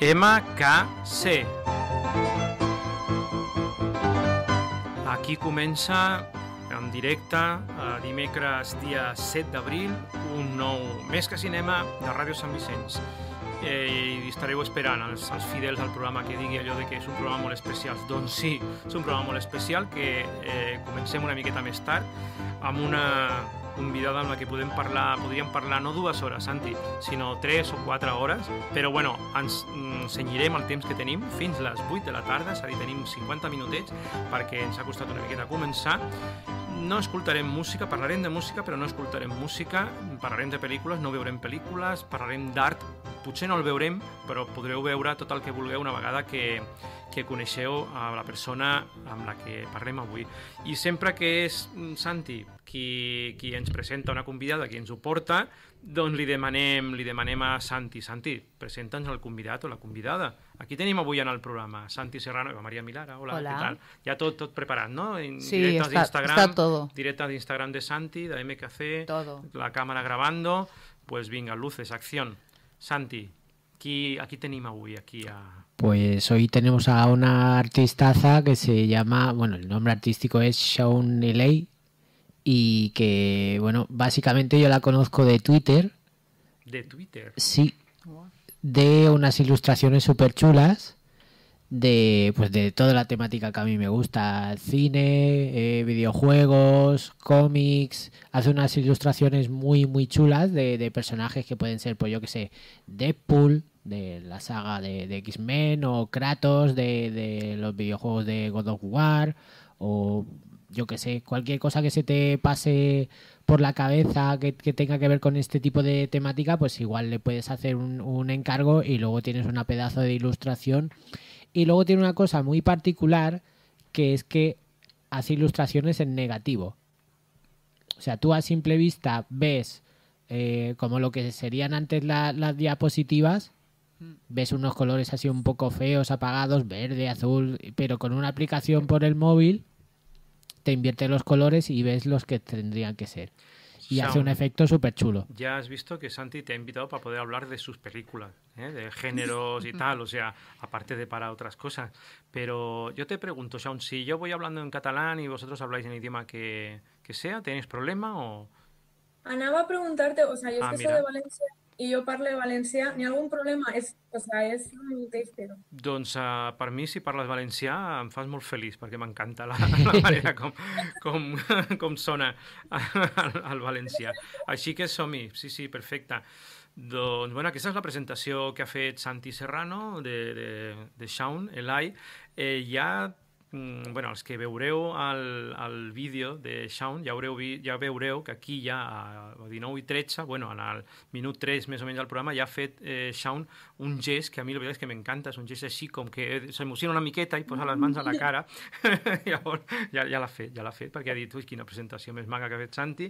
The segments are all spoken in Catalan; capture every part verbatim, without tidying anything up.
M K C. Aquí comença en directe, a dimecres dia set d'abril, un nou Més que Cinema de Ràdio Sant Vicenç. Eh, i estareu esperant els, els fidels al programa que digui allò de que és un programa molt especial. Doncs sí, és un programa molt especial que eh, comencem una miqueta més tard amb una convidada amb la que podem parlar, podríem parlar no dues hores, Santi, sinó tres o quatre hores, però bueno, ens cenyirem el temps que tenim fins les vuit de la tarda, és a dir, tenim cinquanta minutets perquè ens ha costat una miqueta començar. No escoltarem música, parlarem de música, però no escoltarem música, parlarem de pel·lícules, no veurem pel·lícules, parlarem d'art, potser no el veurem, però podreu veure tot el que vulgueu una vegada que, que coneixeu a la persona amb la que parlem avui. I sempre que és Santi qui, qui ens presenta una convidada, qui ens ho porta, doncs li demanem, li demanem a Santi, Santi, presenta'ns el convidat o la convidada. Aquí tenim avui en el programa Santi Serrano i Maria Milara. Hola, Hola. Què tal? Ja tot, tot preparat, ¿no? Sí, está, está todo. Directa de Instagram de Santi, de M K C, todo. La cámara grabando. Pues venga, luces, acción. Santi, aquí, aquí tenim avui, aquí a... Pues hoy tenemos a una artistaza que se llama, bueno, el nombre artístico es Shaun L A y que, bueno, básicamente yo la conozco de Twitter. ¿De Twitter? Sí, de unas ilustraciones súper chulas de, pues de toda la temática que a mí me gusta, cine, eh, videojuegos, cómics. Hace unas ilustraciones muy muy chulas de, de personajes que pueden ser, pues yo que sé, Deadpool de la saga de, de X-Men, o Kratos de, de los videojuegos de God of War, o yo que sé, cualquier cosa que se te pase por la cabeza que, que tenga que ver con este tipo de temática, pues igual le puedes hacer un, un encargo y luego tienes una pedazo de ilustración. Y luego tiene una cosa muy particular, que es que hace ilustraciones en negativo. O sea, tú a simple vista ves eh, como lo que serían antes la, las diapositivas, ves unos colores así un poco feos, apagados, verde, azul, pero con una aplicación por el móvil te invierte los colores y ves los que tendrían que ser. Y Shaun, hace un efecto súper chulo. Ya has visto que Santi te ha invitado para poder hablar de sus películas, ¿eh? De géneros y tal, o sea, aparte de para otras cosas. Pero yo te pregunto, Shaun, si yo voy hablando en catalán y vosotros habláis en idioma que, que sea, ¿tenéis problema o...? Anava a preguntar-te, o sea, jo ah, és que soc de València i jo parlo valencià, n'hi ha algun problema? És, o sea, és el mateix, però... Doncs uh, per mi, si parles valencià, em fas molt feliç, perquè m'encanta la, la manera com, com, com sona el, el valencià. Així que som-hi, sí, sí, perfecte. Doncs, bueno, aquesta és la presentació que ha fet Santi Serrano de, de, de Shaun L A. Eh, ja... Bueno, els que veureu el, el vídeo de Shaun ja, haureu, ja veureu que aquí ja a dinou i tretze, bueno, en el minut tres més o menys del programa, ja ha fet eh, Shaun un gest que a mi la veritat és que m'encanta, és un gest així com que s'emociona una miqueta i posa les mans a la cara. Llavors ja, ja l'ha fet, ja l'ha fet, perquè ha dit, ui, quina presentació més maca que ha fet Santi.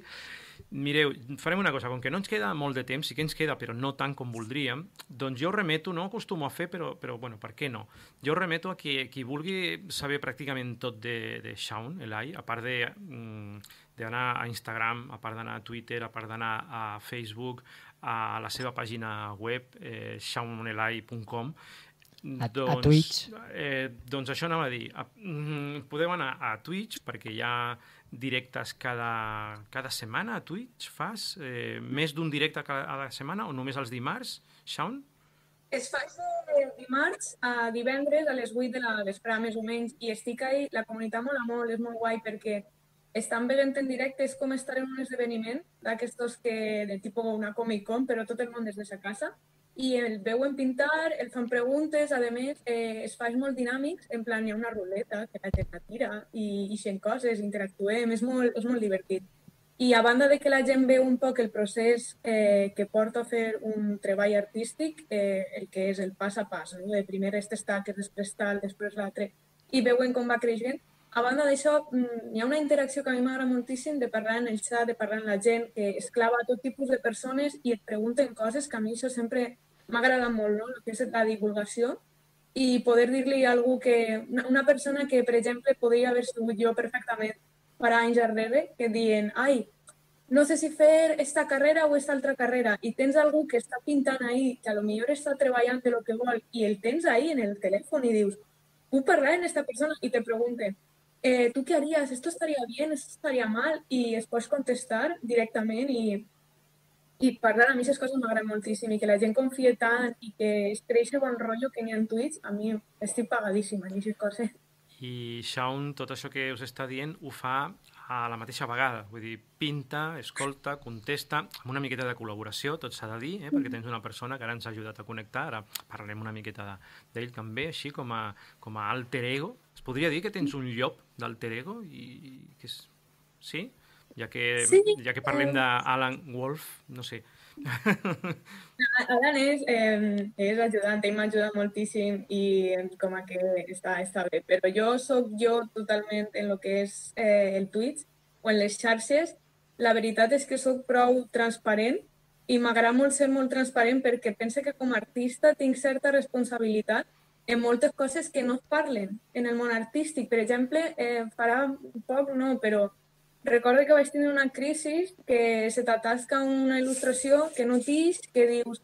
Mireu, farem una cosa, com que no ens queda molt de temps, sí que ens queda, però no tant com voldríem, doncs jo remeto, no acostumo a fer, però, però bueno, per què no? Jo remeto a qui, qui vulgui saber pràcticament tot de, de Shaun L A, a part de, d'anar a Instagram, a part d'anar a Twitter, a part d'anar a Facebook, a la seva pàgina web, eh, shaun l a punt com. A, doncs, a Twitch. Eh, doncs això anava a dir. A, mm, podeu anar a Twitch, perquè hi ha directes cada, cada setmana a Twitch. Fas eh, més d'un directe cada setmana o només els dimarts, Shaun? Es fa de dimarts a divendres a les vuit de la vesprada, més o menys, i estic ahí, la comunitat mola molt, és molt guai, perquè estan veient en directe, és com estar en un esdeveniment d'aquestos que, de tipus una Comic Con, però tot el món des de sa casa, i el veuen pintar, el fan preguntes, a més, eh, es fa molt dinàmics, en plan, hi ha una ruleta que la gent la tira, i ixen coses, interactuem, és molt, és molt divertit. I a banda de que la gent veu un poc el procés eh, que porta a fer un treball artístic, eh, el que és el pas a pas, no? De primer aquestes taques, després tal, després l'altre, i veuen com va creixent. A banda d'això, hi ha una interacció que a mi m'agrada moltíssim de parlar en el xat, de parlar amb la gent, que es clava a tot tipus de persones i et pregunten coses que a mi això sempre m'ha agradat molt, no? El que és la divulgació i poder dir-li a algú que... Una persona que, per exemple, podria haver sigut jo perfectament per anys darrere, que diuen, ai, no sé si fer esta carrera o esta altra carrera, i tens algú que està pintant ahí, que a lo millor està treballant de lo que vol, i el tens ahí en el telèfon i dius, puc parlar amb esta persona? I te pregunten, eh, ¿tú qué harías? ¿Esto estaría bien? ¿Esto estaría mal? I es pots contestar directament i, i parlar. A mi aquestes coses m'agraden moltíssim i que la gent confia tant i que es creix bon rotllo que n'hi ha en Twitch, a mi estic pagadíssima en aquestes coses. I Shaun, tot això que us està dient ho fa a la mateixa vegada, vull dir, pinta, escolta, contesta, amb una miqueta de col·laboració, tot s'ha de dir, eh? Perquè tens una persona que ara ens ha ajudat a connectar, ara parlarem una miqueta d'ell també, així com a, com a alter ego. Es podria dir que tens un llop d'alter ego? I, que és... Sí? Ja que, sí, ja que parlem d'Alan Wolf, no sé. Alan és, eh, és ajudant, ell m'ajuda moltíssim i com a que està, està bé, però jo soc jo totalment en el que és eh, el Twitch o en les xarxes. La veritat és que soc prou transparent i m'agrada molt ser molt transparent perquè pense que com a artista tinc certa responsabilitat en moltes coses que no es parlen en el món artístic. Per exemple, eh, farà poc no, però recordo que vaig tenir una crisi que se t'atasca una il·lustració que no tix, que dius,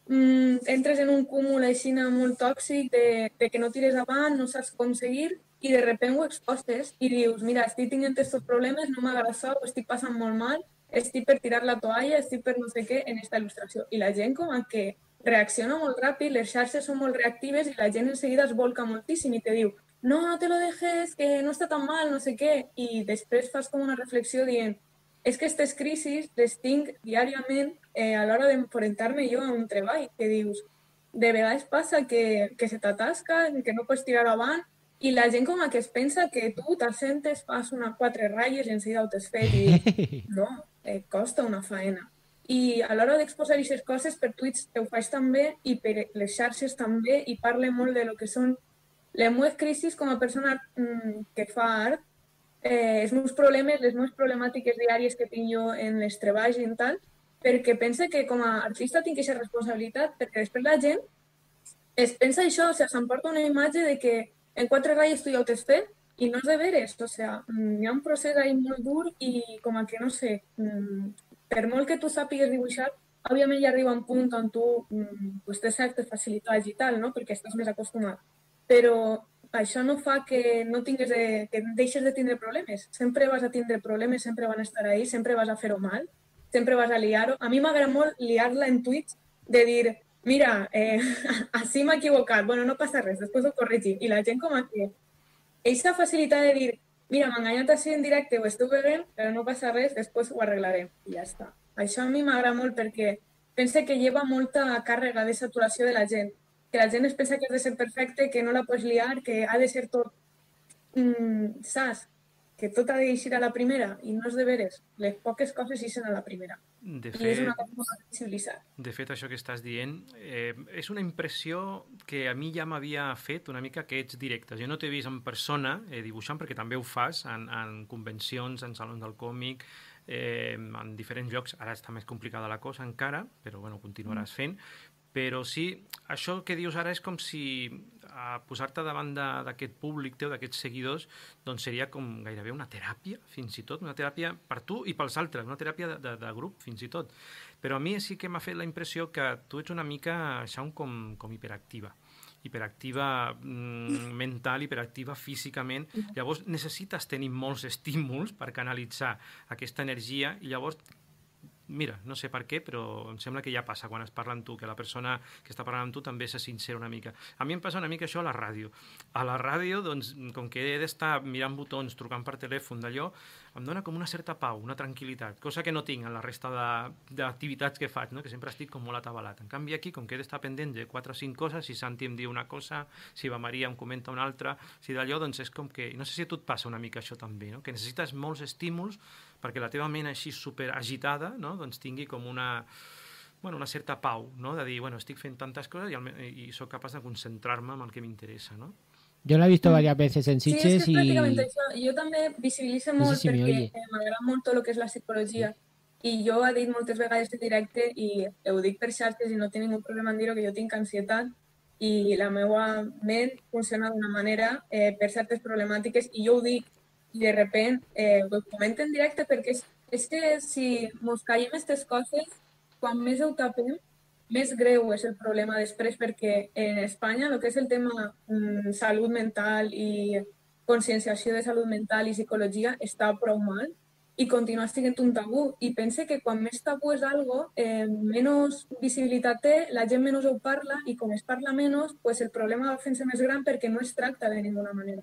mmm, entres en un cúmul així molt tòxic de, de que no tires avant, no saps com seguir, i de repente ho expostes i dius, mira, estic tenint aquests problemes, no m'agrada això, ho estic passant molt mal, estic per tirar la toalla, estic per no sé què en aquesta il·lustració. I la gent com a que reacciona molt ràpid, les xarxes són molt reactives i la gent enseguida es volca moltíssim i te diu, no, no te lo dejes, que no està tan mal, no sé què, i després fas com una reflexió dient, és que aquestes crisis les tinc diàriament eh, a l'hora d'enfrontar-me jo a un treball, que dius, de vegades passa que, que se t'atasca, que no pots tirar avant, i la gent com a que es pensa que tu t'assentes, fas una quatre ratlles i enseguida ho t'has fet, i no, eh, costa una faena. I a l'hora d'exposar aquestes coses, per Twitch ho faig també, i per les xarxes també, i parle molt de lo que són les meves crisis com a persona mmm, que fa art, eh, els meus problemes, les meves problemàtiques diàries que tinc jo en els treballs i en tal, perquè pense que com a artista tinc aquesta responsabilitat, perquè després la gent es pensa això, o sigui, s'emporta una imatge de que en quatre ratlles tu ja ho t'has fet i no és de veres, o sigui, hi ha un procés ahí molt dur i com a que, no sé, mmm, per molt que tu sàpigues dibuixar, òbviament ja arriba un punt on tu mmm, pues, tens certes facilitats i tal, no? Perquè estàs més acostumat. Però això no fa que no tingues de, que deixes de tindre problemes. Sempre vas a tindre problemes, sempre van a estar ahí, sempre vas a fer-ho mal, sempre vas a liar-ho. A mi m'agrada molt liar-la en Twitch, de dir, mira, eh, així m'he equivocat, bueno, no passa res, després ho corregim. I la gent com a que aquesta facilitat de dir, mira, m'he enganyat així en directe, ho estic veient, però no passa res, després ho arreglarem. I ja està. Això a mi m'agrada molt perquè pense que lleva molta càrrega de saturació de la gent. Que la gent es pensa que has de ser perfecte, que no la pots liar, que ha de ser tot, mm, saps? Que tot ha d'eixir a la primera, i no és de veres. Les poques coses eixen a la primera. De fet, I és una cosa molt sensibilitzar. De fet, això que estàs dient eh, és una impressió que a mi ja m'havia fet una mica que ets directes. Jo no t'he vist en persona eh, dibuixant, perquè també ho fas en, en convencions, en salons del còmic, eh, en diferents llocs. Ara està més complicada la cosa encara, però bueno, continuaràs fent. Però sí, això que dius ara és com si a posar-te davant d'aquest públic teu, d'aquests seguidors, doncs seria com gairebé una teràpia, fins i tot, una teràpia per tu i pels altres, una teràpia de, de, de grup, fins i tot. Però a mi sí que m'ha fet la impressió que tu ets una mica, Shaun, com, com hiperactiva. hiperactiva mm, mental, hiperactiva físicament. Llavors necessites tenir molts estímuls per canalitzar aquesta energia i llavors mira, no sé per què, però em sembla que ja passa quan es parla amb tu, que la persona que està parlant amb tu també se sincera una mica. A mi em passa una mica això a la ràdio. A la ràdio, doncs, com que he d'estar mirant botons, trucant per telèfon, d'allò, em dona com una certa pau, una tranquil·litat, cosa que no tinc en la resta d'activitats que faig, no? Que sempre estic com molt atabalat. En canvi aquí, com que he d'estar pendent de quatre o cinc coses, si Santi em diu una cosa, si va Maria em comenta una altra, si d'allò, doncs és com que... No sé si a tu et passa una mica això també, no? Que necessites molts estímuls perquè la teva ment així superagitada, no? Doncs tingui com una, bueno, una certa pau, no? De dir, bueno, estic fent tantes coses i, el, i soc capaç de concentrar-me en el que m'interessa, no? Yo la he visto varias veces en Sitges sí, es que y... prácticamente eso. Yo també visibilizo molt no sé si perquè m'agrada molt tot el que és la psicologia i jo he dit moltes vegades en directe i ho dic per xarxes i no tinc ningú problema en dir-ho, que jo tinc ansietat i la meva ment funciona d'una manera eh, per certes problemàtiques i jo ho dic i de repente eh, ho comento en directe perquè és, és que si mos caiem aquestes coses, quan més ho tapem, més greu és el problema després, perquè en Espanya el que és el tema mm, salut mental i conscienciació de salut mental i psicologia està prou mal i continua sent un tabú. I pense que quan més tabú és algo, eh, menys visibilitat té, la gent menys ho parla i com es parla menys, pues el problema va fent-se més gran perquè no es tracta de ninguna manera.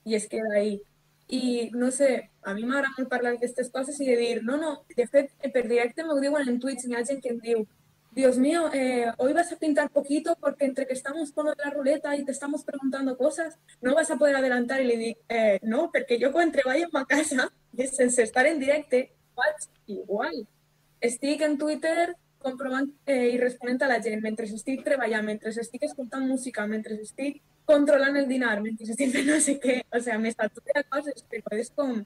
I es queda ahí. I no sé, a mi m'agrada molt parlar d'aquestes coses i de dir, no, no, de fet, per directe m'ho diuen en Twitch, hi ha gent que em diu, Dios mío, eh, hoy vas a pintar poquito porque entre que estamos con la ruleta y te estamos preguntando cosas, no vas a poder adelantar. Y le digo, eh, no, porque yo cuando treballo en ma casa, sense estar en directe, faig igual. Estic en Twitter comprovant eh, i responent a la gent mentre estic treballant, mentre estic escoltant música, mentre estic controlant el dinar, mentre estic fent no sé què. O sigui, m'estaturo de coses, però és com...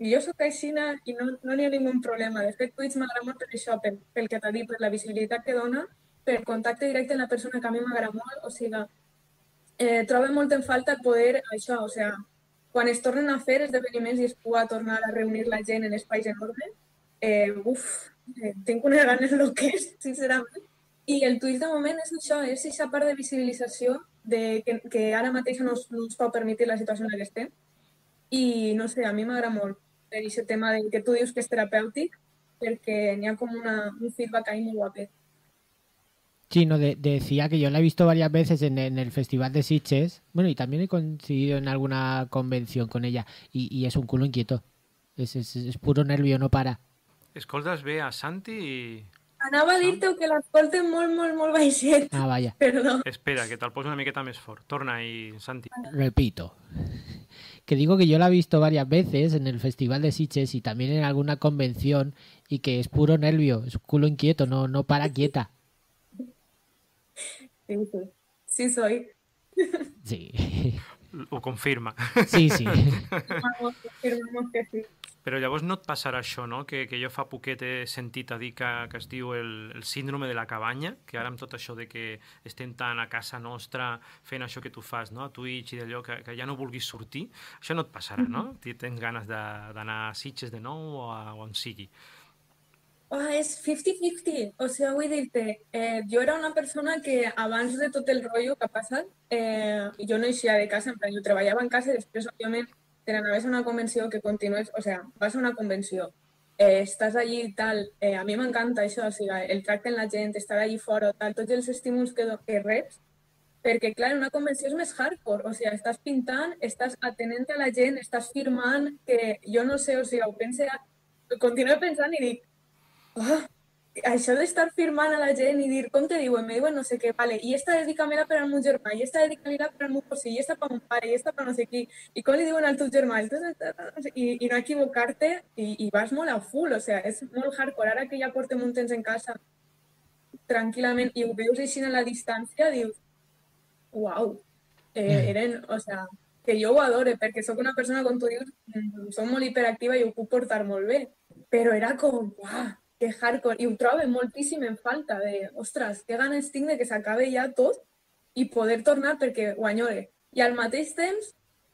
I jo soc aixina i no n'hi no ha ningun problema. De fet, Twitch m'agrada molt per això, pel, pel que t'ha dit, per la visibilitat que dona, per contacte directe amb la persona que a mi m'agrada molt. O sigui, eh, trobo molt en falta poder això, o sigui, quan es tornen a fer esdeveniments i es pugui tornar a reunir la gent en espais enormes, eh, uf, eh, tinc unes ganes loques, sincerament. I el Twitch de moment és això, és aquesta part de visibilització de, que, que ara mateix no us, no us pot permetre la situació en la que estem. I no sé, a mi m'agrada molt per aquest tema de que tu dius que és terapèutic, perquè n'hi ha com una, un feedback ahí muy guapet. Sí, no, de, decía que yo la he visto varias veces en, en el Festival de Sitges, bueno, y también he coincidido en alguna convención con ella, y, y es un culo inquieto, es, es, es puro nervio, no para. Escoltes bé a Santi i... Anava a dir-te que l'escolten molt, molt, molt baixet. Ah, vaya. Perdó. Espera, que te'l poso una miqueta més fort. Torna ahí, Santi. Repito. Que digo que yo la he visto varias veces en el Festival de Sitges y también en alguna convención y que es puro nervio, es un culo inquieto, no, no para quieta. Sí, sí. Sí soy. Sí. Ho confirma. Sí, sí. Confirmamos que sí. Però llavors no et passarà això, no? Que, que jo fa poquet he sentit a dir que, que es diu el, el síndrome de la cabanya, que ara amb tot això de que estem tant a casa nostra fent això que tu fas, no? A Twitch i d'allò, que, que ja no vulguis sortir, això no et passarà, no? Tens ganes d'anar a Sitges de nou o a on sigui. Oh, és cinquanta cinquanta, o sigui, vull dir-te, eh, jo era una persona que abans de tot el rotllo que ha passat, eh, jo no eixia de casa, en plan, jo treballava en casa i després, òbviament, te n'anaves a una convenció que continues, o sigui, vas a una convenció, eh, estàs allí i tal, eh, a mi m'encanta això, o sigui, el tracte amb la gent, estar allí fora, tal, tots els estímuls que, que reps, perquè, clar, una convenció és més hardcore, o sigui, estàs pintant, estàs atenent a la gent, estàs firmant, que jo no sé, o sigui, ho pense, continuo pensant i dic, oh, això d'estar firmant a la gent i dir, com te diuen? Me diuen no sé què, vale, i esta dedicamela per al meu germà, i esta dedicamela per al meu cosí, i esta per mon pare, i esta per no sé qui, i com li diuen al teu germà, i, i no equivocar-te, i, i vas molt a full, o sigui, és molt hardcore. Ara que ja portem un temps en casa tranquil·lament i ho veus així a la distància, dius, uau, eh, eren, o sigui, que jo ho adore, perquè sóc una persona, com tu dius, soc molt hiperactiva i ho puc portar molt bé, però era com, uau, que hardcore, i ho trobo moltíssim en falta de, ostres, que ganes tinc de que s'acabe ja tot i poder tornar perquè ho enyore. I al mateix temps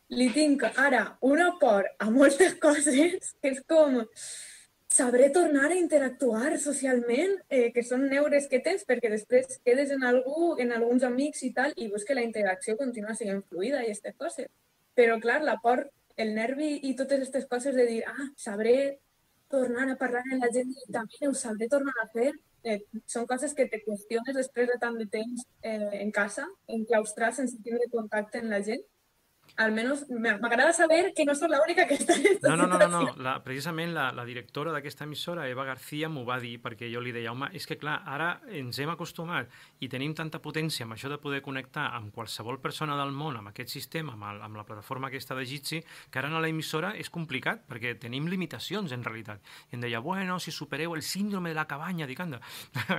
li tinc ara una por a moltes coses que és com sabré tornar a interactuar socialment, eh, que són neures que tens, perquè després quedes en algú, en alguns amics i tal, i veus que la interacció continua sent fluida i aquestes coses. Però, clar, la por, el nervi i totes aquestes coses de dir, ah, sabré tornar a parlar amb la gent i també ho sabré tornar a fer. Eh, són coses que te qüestiones després de tant de temps eh, en casa, enclaustrat sense tindre contacte amb la gent. Almenys m'agrada saber que no soc l'única que està en aquesta no, no, no, no, no. situació. La, precisament la, la directora d'aquesta emissora, Eva García, m'ho va dir perquè jo li deia, home, és que clar, ara ens hem acostumat i tenim tanta potència amb això de poder connectar amb qualsevol persona del món, amb aquest sistema, amb, el, amb la plataforma aquesta de Jitsi, que ara a l'emissora és complicat perquè tenim limitacions en realitat. I em deia, bueno, si supereu el síndrome de la cabanya, dic, anda,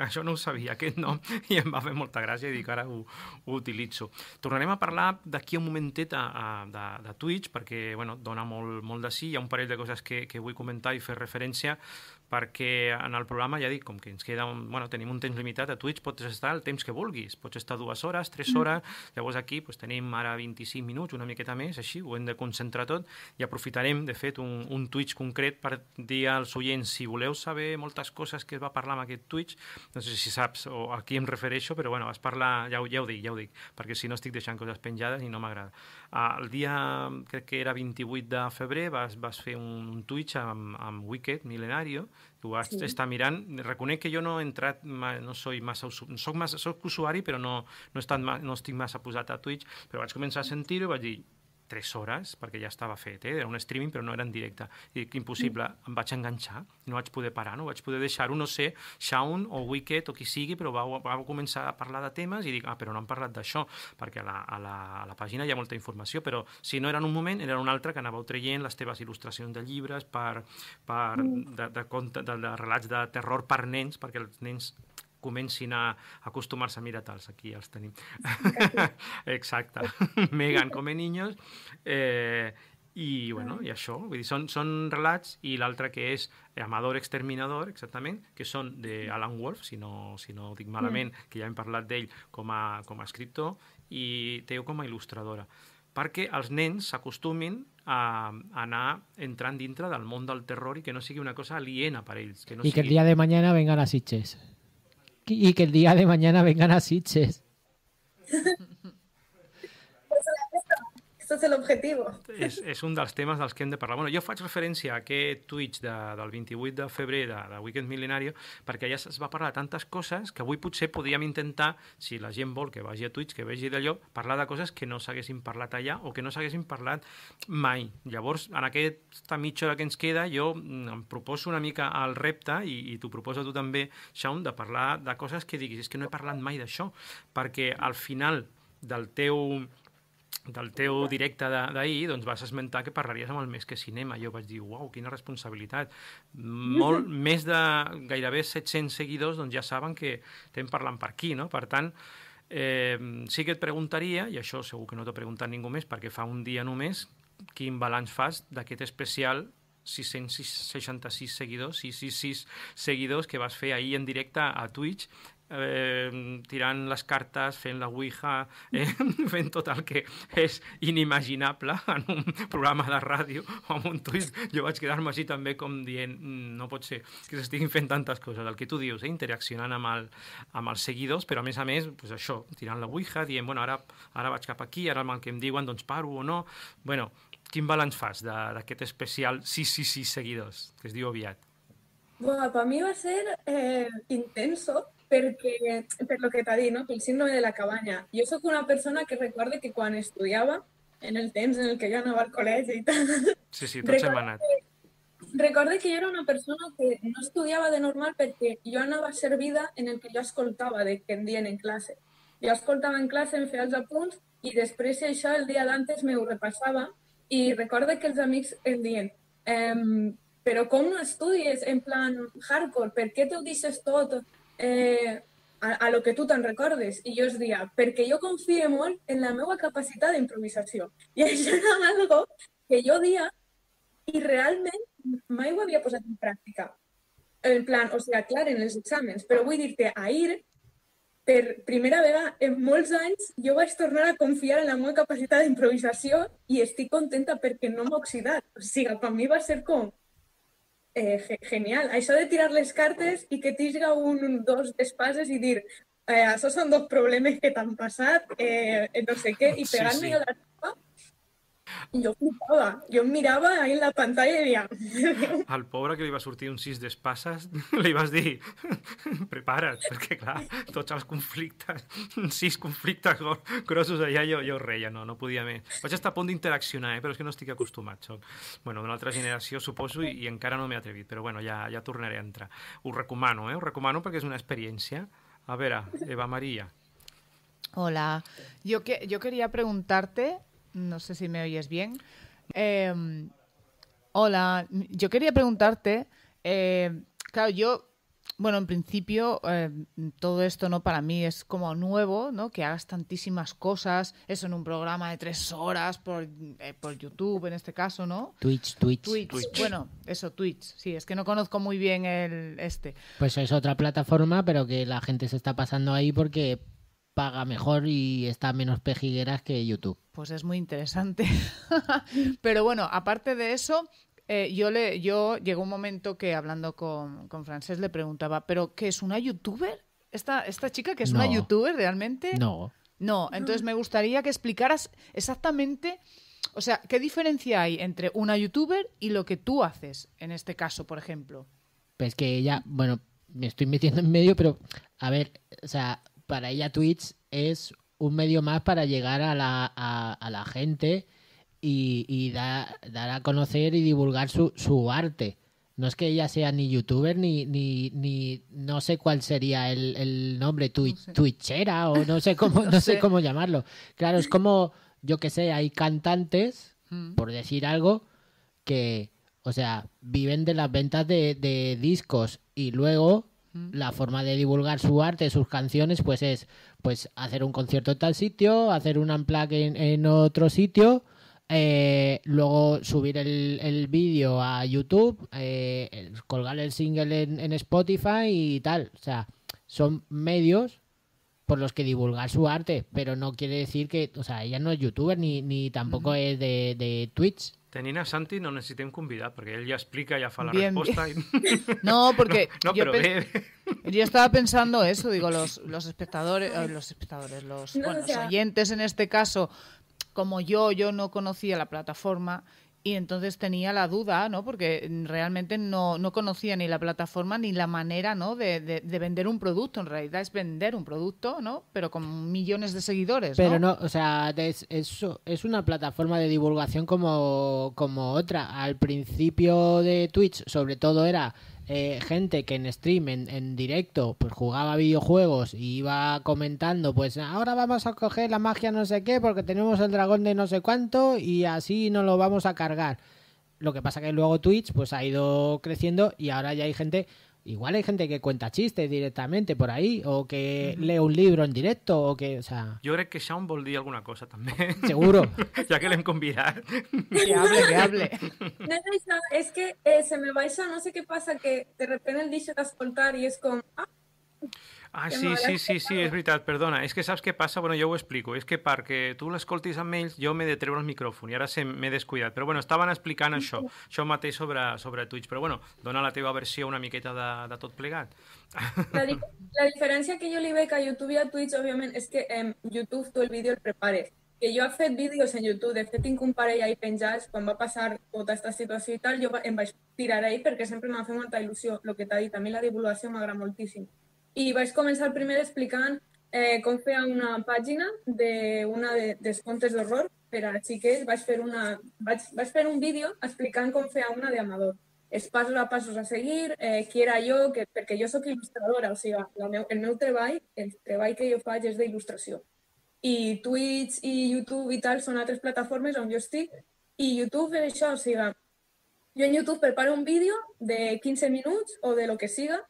això no ho sabia, aquest nom, i em va fer molta gràcia i dic, ara ho, ho utilitzo. Tornarem a parlar d'aquí un momentet a, a De, de Twitch, perquè bueno, dona molt, molt de sí, hi ha un parell de coses que, que vull comentar i fer referència, perquè en el programa, ja dic, com que ens queda un, bueno, tenim un temps limitat, a Twitch pots estar el temps que vulguis, pots estar dues hores, tres hores, llavors aquí doncs, tenim ara vint-i-cinc minuts, una miqueta més, així, ho hem de concentrar tot i aprofitarem, de fet, un, un Twitch concret per dir als oients, si voleu saber moltes coses que es va parlar en aquest Twitch, no sé si saps o a qui em refereixo, però bueno, vas parlar, ja ho, ja ho dic, ja ho dic, perquè si no estic deixant coses penjades i no m'agrada. Uh, el dia, crec que era vint-i-vuit de febrer, vas, vas fer un, un Twitch amb, amb Wicked Milenario, que ho vas sí. estar mirant. Reconec que jo no he entrat, no soy massa, soc, massa, soc usuari, però no, no, estat, no estic massa posat a Twitch, però vaig començar a sentir-ho i vaig dir, tres hores, perquè ja estava fet, eh? Era un streaming però no era en directe, i dic, impossible, mm. em vaig enganxar, no vaig poder parar, no vaig poder deixar-ho, no sé, Shaun o Wicked o qui sigui, però vau, vau començar a parlar de temes i dic, ah, però no han parlat d'això, perquè a la, a, la, a la pàgina hi ha molta informació, però si no era en un moment, era en un altre que anàveu traient les teves il·lustracions de llibres, per, per, mm. de, de, de, de, de relats de terror per nens, perquè els nens comencin a acostumar-se a mirar-te'ls, aquí els tenim. Exacte. Megan come niños. Eh, i, bueno, i això, vull dir, són, són relats, i l'altre que és Amador Exterminador, exactament, que són d'Alan Wolf, si no, si no ho dic malament, mm. que ja hem parlat d'ell com a, com a escriptor, i Teo com a il·lustradora, perquè els nens s'acostumin a anar entrant dintre del món del terror i que no sigui una cosa aliena per ells. Que no I sigui... que el dia de mañana vengan a Sitges. Y que el día de mañana vengan a Sitges. Esto es el objetivo. És, és un dels temes dels que hem de parlar. Bueno, jo faig referència a aquest Twitch de, del vint-i-vuit de febrer de, de Weekend Milenario, perquè ja es va parlar de tantes coses que avui potser podríem intentar, si la gent vol que vagi a Twitch, que vegi d'allò, parlar de coses que no s'haguessin parlat allà o que no s'haguessin parlat mai. Llavors, en aquesta mitja hora que ens queda, jo em proposo una mica el repte, i, i t'ho proposo tu també, Shaun, de parlar de coses que diguis, és que no he parlat mai d'això, perquè al final del teu... del teu directe d'ahir, doncs vas esmentar que parlaries amb el Més que Cinema. Jo vaig dir, uau, quina responsabilitat. Molt, més de gairebé set-cents seguidors doncs ja saben que estem parlant per aquí, no? Per tant, eh, sí que et preguntaria, i això segur que no t'ho ha preguntat ningú més, perquè fa un dia només, quin balanç fas d'aquest especial sis-cents seixanta-sis seguidors, sis cents seixanta-sis seguidors que vas fer ahir en directe a Twitch, Eh, tirant les cartes, fent la ouija, eh, fent tot el que és inimaginable en un programa de ràdio o en un Twitch. Jo vaig quedar-me així també com dient, no pot ser que s'estiguin fent tantes coses, el que tu dius, eh, interaccionant amb, el, amb els seguidors, però a més a més, pues això, tirant la ouija, dient, bueno, ara, ara vaig cap aquí, ara amb el que em diuen, doncs paro o no. Bueno, quin balanç fas d'aquest especial sis cents seixanta-sis seguidors, que es diu aviat? Bueno, para mí va a ser eh, intenso, perquè, per lo que t'ha dit, no? El síndrome de la cabanya. Jo sóc una persona que recorde que quan estudiava, en el temps en el que jo anava al col·legi i tal... Sí, sí, tots hem anat. Recorde que jo era una persona que no estudiava de normal perquè jo anava servida en el que jo escoltava de que em dien en classe. Jo escoltava en classe, em feia els apunts i després això el dia d'antes m'ho repassava i recorde que els amics em diuen ehm, però com no estudies en plan hardcore? Per què t'ho deixes tot eh, a, a lo que tu te'n recordes? I jo es deia, perquè jo confio molt en la meva capacitat d'improvisació. I això era algo que jo dia i realment mai ho havia posat en pràctica. En plan, o sigui, clar, en els exàmens, però vull dir-te, ahir, per primera vegada en molts anys, jo vaig tornar a confiar en la meva capacitat d'improvisació i estic contenta perquè no m'ha oxidat. O sigui, per mi va ser com Eh, genial. Això de tirar les cartes i que t'higa un, dos despases i dir eh, això són dos problemes que t'han passat, eh, no sé què, i pegar-me sí, sí. a la tapa, jo flipava. Jo em mirava ahí en la pantalla i deia... Al pobre que li va sortir un sis d'espases, li vas dir prepara't, perquè clar, tots els conflictes, sis conflictes grossos allà, jo, jo reia, no, no podia més. Vaig estar a punt d'interaccionar, eh, però és que no estic acostumat. Soc, bueno, d'una altra generació, suposo, i, i encara no m'he atrevit, però bueno, ja, ja tornaré a entrar. Ho recomano, eh? Ho recomano perquè és una experiència. A veure, Eva María. Hola, yo, que, yo quería preguntarte, no sé si me oyes bien. Eh, hola, yo quería preguntarte, eh, claro, yo Bueno, en principio, eh, todo esto, ¿no? Para mí es como nuevo, ¿no? Que hagas tantísimas cosas, eso en un programa de tres horas por, eh, por YouTube, en este caso, ¿no? Twitch, Twitch. Twitch. Twitch. Bueno, eso, Twitch. Sí, es que no conozco muy bien el este. Pues es otra plataforma, pero que la gente se está pasando ahí porque paga mejor y está menos pejigueras que YouTube. Pues es muy interesante. Pero bueno, aparte de eso, eh, yo le, yo llegó un momento que hablando con, con Francés le preguntaba, ¿pero qué es una youtuber? ¿Esta, esta chica que es No. una youtuber realmente? No. No, entonces me gustaría que explicaras exactamente, o sea, ¿qué diferencia hay entre una youtuber y lo que tú haces, en este caso, por ejemplo? Pues que ella, bueno, me estoy metiendo en medio, pero a ver, o sea, para ella Twitch es un medio más para llegar a la, a, a la gente y, y da- dar a conocer y divulgar su, su arte. No es que ella sea ni youtuber ni, ni, ni no sé cuál sería el, el nombre, twi- No sé. twitchera o no sé cómo, No no sé sé. cómo llamarlo. Claro, es como, yo que sé, hay cantantes, Mm. por decir algo, que, o sea, viven de las ventas de, de discos y luego la forma de divulgar su arte, sus canciones, pues es pues hacer un concierto en tal sitio, hacer un unplug en, en otro sitio, eh, luego subir el, el vídeo a YouTube, eh, el- colgar el single en, en Spotify y tal. O sea, son medios por los que divulgar su arte, pero no quiere decir que, o sea, ella no es youtuber ni, ni tampoco es de, de Twitch. Tenint a Santi no necessitem convidar, perquè ell ja explica, ja fa la Bien, resposta. I... No, porque No, no yo, però pe- bé. yo estaba pensando eso, digo, los, los espectadores, eh, los espectadores, los, No, bueno, o sea- los oyentes en este caso, como yo, yo no conocía la plataforma y entonces tenía la duda, ¿no? Porque realmente no, no conocía ni la plataforma ni la manera, ¿no? De, de, de vender un producto. En realidad es vender un producto, ¿no? Pero con millones de seguidores, ¿no? Pero no, o sea, es, es, es una plataforma de divulgación como, como otra. Al principio de Twitch, sobre todo, era eh, gente que en stream, en, en directo, pues jugaba videojuegos y iba comentando, pues ahora vamos a coger la magia no sé qué porque tenemos el dragón de no sé cuánto y así nos lo vamos a cargar. Lo que pasa que luego Twitch pues ha ido creciendo y ahora ya hay gente, igual hay gente que cuenta chistes directamente por ahí o que lee un libro en directo o que, o sea, Jo crec que Shaun vol dir alguna cosa, també. seguro. Ja que l'hem convidat. Que hable, que hable. No és això, és que eh, se me baixa, no sé què passa, que de repente el deixo d'escoltar i és com... Ah, Ah, Que sí, m'hauràs sí, sí, sí, explicado. és veritat, perdona. És que saps què passa? Bueno, jo ho explico. És que perquè tu l'escoltis amb ells, jo m'he de treure el micròfon i ara se m'he descuidat. Però bueno, estaven explicant això, això mateix sobre, sobre Twitch. Però bueno, dona la teva versió una miqueta de, de tot plegat. La, di- la diferència que jo li veig a YouTube i a Twitch, òbviament, és que en YouTube tu el vídeo el prepares. Que jo he fet vídeos en YouTube, de fet tinc un parell ahí penjats, quan va passar tota aquesta situació i tal, jo va- em vaig tirar ahí perquè sempre m'ha fet molta il·lusió, el que t'ha dit, a mi la divulgació m'agrada moltíssim. I vaig començar primer explicant eh, com fer una pàgina d'una de, dels contes d'horror per a xiquets. Vaig fer, una, vaig, vaig fer un vídeo explicant com fer una d'amador. Els passos a passos a seguir, eh, qui era jo, que, perquè jo sóc il·lustradora, o sigui, la meu, el meu treball, el treball que jo faig és d'il·lustració. I Twitch i YouTube i tal són altres plataformes on jo estic. I YouTube és això, o sigui, jo en YouTube preparo un vídeo de quinze minuts o de lo que siga,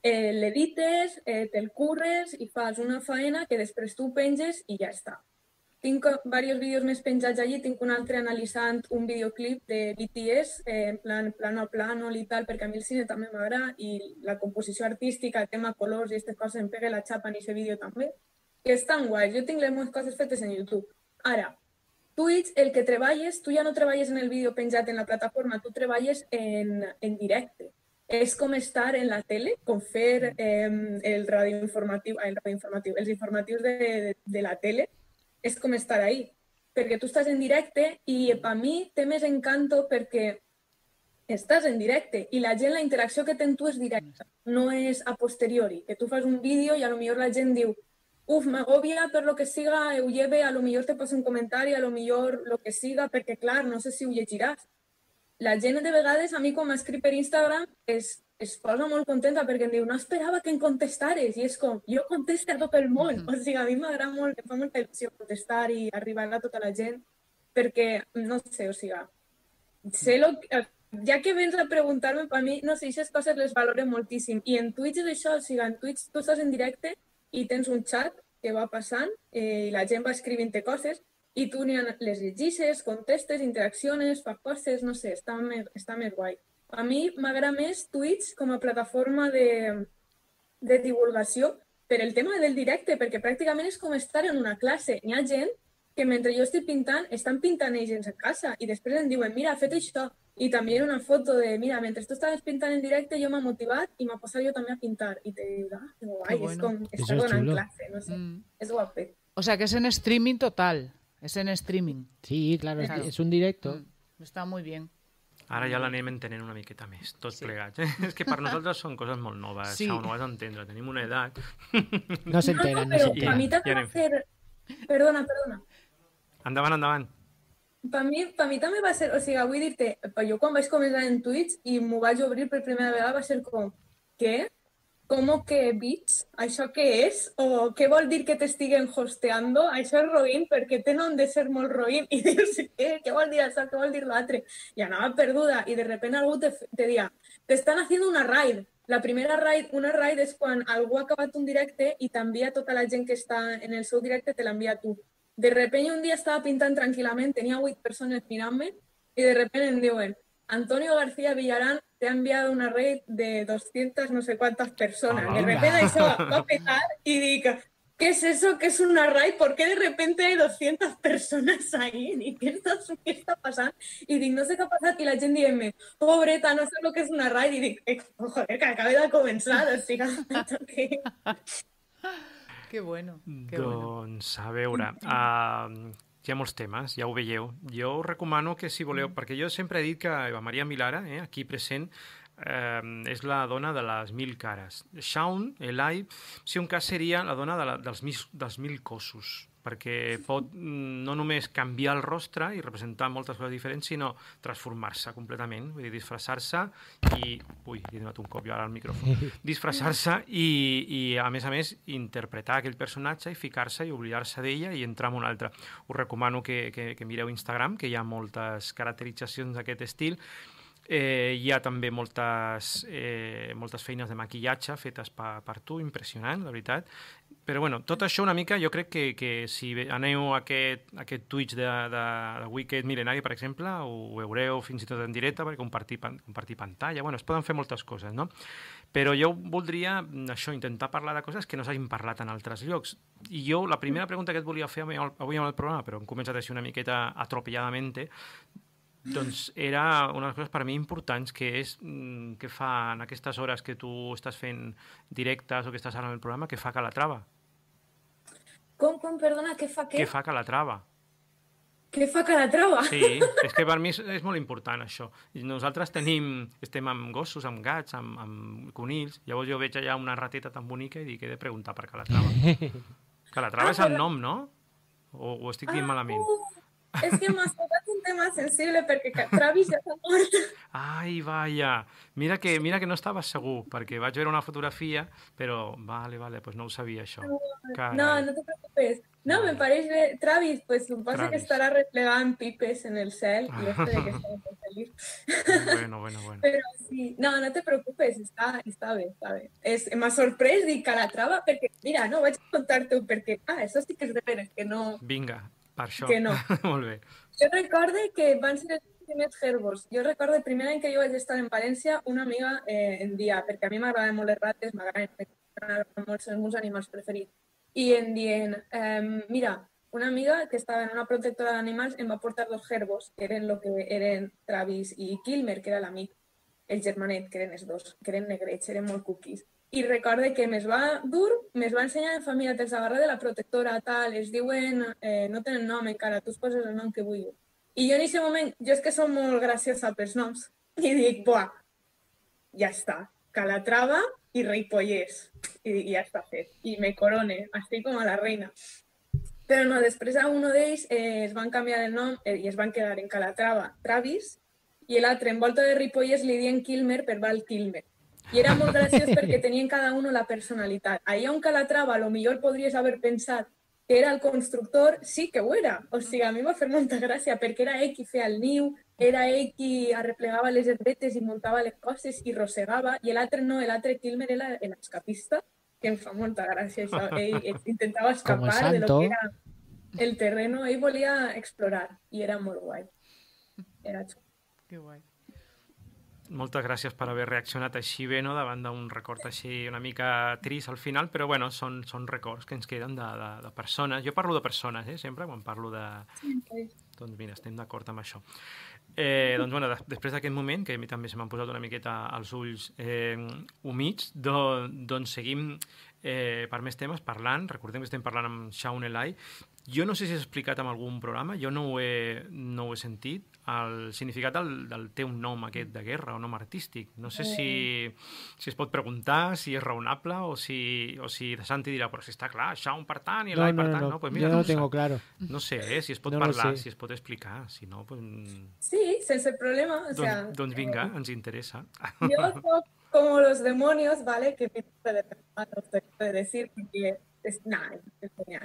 eh, l'edites, eh, te'l curres i fas una faena que després tu penges i ja està. Tinc diversos vídeos més penjats allí, tinc un altre analitzant un videoclip de B T S, eh, en plan plano a plano i tal, perquè a mi el cine també m'agrada i la composició artística, el tema colors i aquestes coses em pega la xapa en aquest vídeo també, que estan guais. Jo tinc les meves coses fetes en YouTube. Ara, Twitch, el que treballes, tu ja no treballes en el vídeo penjat en la plataforma, tu treballes en, en directe. És com estar en la tele, com fer eh, el radioinformatiu, el radioinformatiu, els informatius de, de, de la tele, és com estar ahí. Perquè tu estàs en directe i per mi té més encanto perquè estàs en directe i la gent, la interacció que té amb tu és directa, no és a posteriori, que tu fas un vídeo i a lo millor la gent diu uf, m'agobia per lo que siga, ho lleve, a lo millor te posa un comentari, a lo millor lo que siga, perquè clar, no sé si ho llegiràs. La gent de vegades, a mi quan m'escriu per Instagram, es, es posa molt contenta perquè em diu no esperava que em contestares i és com, jo contesto a tot el món. O sigui, a mi m'agrada molt, em fa molta il·lusió contestar i arribar a tota la gent perquè, no sé, o sigui, sé lo que, ja que vens a preguntar-me, per mi, no sé, aquestes coses les valoro moltíssim. I en Twitch és això, o sigui, en Twitch tu estàs en directe i tens un xat que va passant eh, i la gent va escrivint-te coses i tu les llegixes, contestes, interacciones, fas coses, no sé, està més, està més guai. A mi m'agrada més Twitch com a plataforma de, de divulgació per el tema del directe, perquè pràcticament és com estar en una classe. Hi ha gent que mentre jo estic pintant, estan pintant ells a casa i després em diuen, mira, he fet això. I també una foto de, mira, mentre tu estaves pintant en directe jo m'ha motivat i m'ha posat jo també a pintar. I te dic, ah, que guai, bueno. És com Eso estar es donant chulo. classe, no sé, Mm. és guapet. O sea que es en streaming total. Es en streaming. Sí, claro, Claro. Es, es un directo. Mm. Está muy bien. Ara ja l'anem entenent una miqueta més, tots Sí. plegats. Eh? És que per nosaltres són coses molt noves, Sí. això no ho has d'entendre, tenim una edat. No se enteran, no se Però a enteran. mi també Ja va anem ser... Perdona, perdona. Endavant, endavant. Per mi, per mi també va ser... O sigui, vull dir-te, jo quan vaig començar en Twitch i m'ho vaig obrir per primera vegada va ser com, què? ¿Cómo que bits? ¿Això què és? O què vol dir que t'estiguen hosteando? Això és roïn perquè tenen de ser molt roïn. I dius, què? Què vol dir això? Què vol dir l'altre? I anava perduda i de repente algú te, te dia, t'estan haciendo una raid. La primera raid, una raid és quan algú ha acabat un directe i t'envia tota la gent que està en el seu directe, te l'envia tu. De repente un dia estava pintant tranquil·lament, tenia vuit persones mirant-me i de repente em diuen, Antonio García Villarán te ha enviado una raid de doscientas no sé cuántas personas. Ah, de venga. repente eso va a petar y digo, ¿qué es eso? ¿Qué es una raid? ¿Por qué de repente hay doscientas personas ahí? ¿Y qué está, qué está pasando? Y digo, no sé qué ha pasado. Y la gente dice, pobreta, no sé lo que es una raid. Y digo, eh, joder, que acabé de comenzar. O sigui, que... Qué bueno. Qué bueno. Doncs, a veure, uh, hi ha molts temes, ja ho veieu. Jo us recomano que si voleu, perquè jo sempre he dit que Eva Maria Milara, eh, aquí present, eh, és la dona de les mil cares. Shaun, Elai, si un cas seria la dona de la, dels, mil, dels mil cossos, perquè pot no només canviar el rostre i representar moltes coses diferents, sinó transformar-se completament, vull dir, disfressar-se i... Ui, he donat un cop jo ara al micròfon. Disfressar-se i, i, a més a més, interpretar aquell personatge i ficar-se i oblidar-se d'ella i entrar en un altre. Us recomano que, que, que mireu Instagram, que hi ha moltes caracteritzacions d'aquest estil. Eh, hi ha també moltes, eh, moltes feines de maquillatge fetes per, per tu, impressionant, la veritat. Però bueno, tot això una mica, jo crec que, que si aneu a aquest, a aquest Twitch de, de, de Wicked Millenari, per exemple, ho veureu fins i tot en directe per compartir, compartir pantalla. Bueno, es poden fer moltes coses, no? Però jo voldria, això, intentar parlar de coses que no s'hagin parlat en altres llocs. I jo, la primera pregunta que et volia fer avui amb el programa, però hem començat així una miqueta atropelladamente, doncs era una de les coses per mi importants, que és mm, què fa en aquestes hores que tu estàs fent directes o que estàs ara en el programa, què fa Calatrava? Com, com, perdona, què fa què? Què fa Calatrava? Què fa Calatrava? Sí, és que per mi és, és molt important això. I nosaltres tenim, estem amb gossos, amb gats, amb, amb conills, llavors jo veig allà una rateta tan bonica i dic, he de preguntar per Calatrava. Calatrava Ah, és el però- nom, no? O ho estic dient malament? Uh, és que m'has tocat un tema sensible perquè Travis ja s'ha mort. Ai, vaja. Mira que, mira que no estava segur, perquè vaig veure una fotografia, però vale, vale, pues no ho sabia això. Carai. No, no te preocupes. No, me pareix bé. Travis, pues suposo que Travis. estarà replegant pipes en el cel i este de que està molt feliç. Bueno, bueno, bueno. Però sí, no, no te preocupes, està, està bé, està bé. És, m'ha sorprès dir Calatrava perquè, mira, no, vaig a contar-te-ho perquè, ah, això sí que és de veres, que no... Vinga, per això. Que no. Molt bé. Jo recorde que van ser els primers herbos. Jo recorde el primer any que jo vaig estar en València, una amiga eh, em dia, perquè a mi m'agraden molt les rates, m'agraden molt, són els meus animals preferits, i em dient, eh, mira, una amiga que estava en una protectora d'animals em va portar dos herbos, que eren lo que eren Travis i Kilmer, que era l'amic, el germanet, que eren els dos, que eren negrets, eren molt cookies. I recorde que me'ls va dur, me'ls va ensenyar en família, te'ls agarra de la protectora, tal, es diuen, eh, no tenen nom encara, tu es poses el nom que vulguis. I jo en aquest moment, jo és que som molt graciosa pels noms, i dic, buah, ja està, Calatrava i Ripollès. I dic, ja està fet. I me corone, estic com a la reina. Però no, després a un d'ells eh, es van canviar el nom eh, i es van quedar en Calatrava, Travis, i l'altre, en volta de Ripollès, li diuen Kilmer per Val Kilmer. I era molt graciós perquè tenien cada un la personalitat. Allà on Calatrava, a lo millor podries haver pensat que era el constructor, sí que ho era. O sigui, a mi m'ha fet molta gràcia perquè era ell qui feia el niu, era ell qui arreplegava les herbetes i muntava les coses i rossegava, i l'altre no, l'altre Kilmer era l'escapista, que em fa molta gràcia això. Ell, ell intentava escapar de lo que era el terreno, ell volia explorar i era molt guai. Era xulo. Que guai. Moltes gràcies per haver reaccionat així bé, no?, davant d'un record així una mica trist al final, però bueno, són, són records que ens queden de, de, de persones. Jo parlo de persones, eh, sempre, quan parlo de... Doncs mira, estem d'acord amb això. Eh, doncs bueno, després d'aquest moment, que a mi també se m'han posat una miqueta als ulls eh, humits, do, doncs seguim eh, per més temes parlant. Recordem que estem parlant amb Shaun Eli. Jo no sé si has explicat en algun programa, jo no ho he, no ho he sentit, el significat del, del teu nom aquest de guerra o nom artístic. No sé si, si es pot preguntar, si és raonable o si, o si Santi dirà, però si està clar, Shaun per tant i Eli no, per no, tant. No, no, pues mira, jo no no tengo sap. claro. No sé, eh, si es pot no parlar, sé. si es pot explicar, si no, pues... Sí, sense problema. O doncs, sea, doncs vinga, ens interessa. Yo soy como los demonios, ¿vale? Que me puede decir, porque és, nah,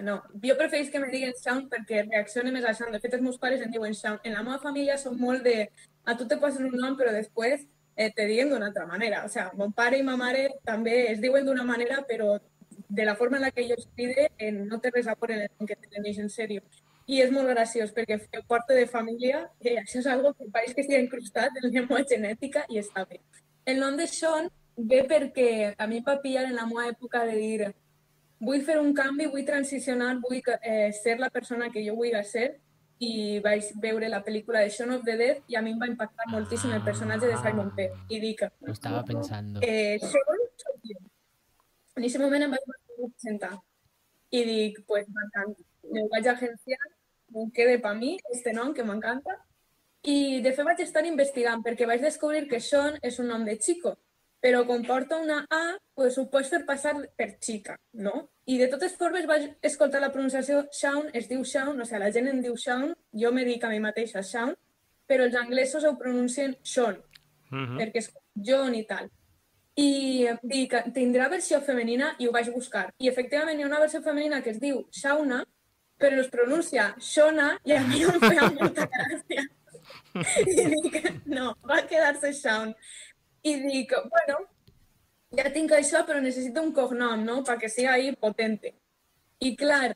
no. Jo preferís que me diguen Shaun perquè reaccione més a Shaun. De fet, els meus pares em diuen Shaun. En la meva família són molt de... A tu te posen un nom, però després eh, te diguen d'una altra manera. O sea, mon pare i ma mare també es diuen d'una manera, però de la forma en la que jo es pide eh, no té res a por en el que te tenéis en serio. I és molt graciós perquè fer part de família, eh, això és algo que pareix que estigui incrustat en la meva genètica i està bé. El nom de Shaun ve perquè a mi em va pillar en la meva època de dir vull fer un canvi, vull transicionar, vull eh, ser la persona que jo vull ser, i vaig veure la pel·lícula de Shaun of the Dead i a mi em va impactar moltíssim el personatge de Simon Pegg. I dic... Lo estaba pensando. Eh, Shaun soy jo. En aquest moment em vaig presentar i dic, pues m'encanta. Me vaig agenciar, em quede per mi, este nom que m'encanta. I de fet vaig estar investigant perquè vaig descobrir que Shaun és un nom de chico, però com porta una A, pues ho pots fer passar per xica, no? I de totes formes vaig escoltar la pronunciació Shaun, es diu Shaun, o sigui, la gent em diu Shaun, jo me dic a mi mateixa Shaun, però els anglesos ho pronuncien Shaun, uh-huh. perquè és John i tal. I dic, tindrà versió femenina i ho vaig buscar. I efectivament hi ha una versió femenina que es diu Shauna, però es pronuncia Shona i a mi no em feia molta gràcia. I dic, no, va quedar-se Shaun. I dic, bueno, ja tinc això, però necessito un cognom, no?, perquè sigui ahí potente. I clar,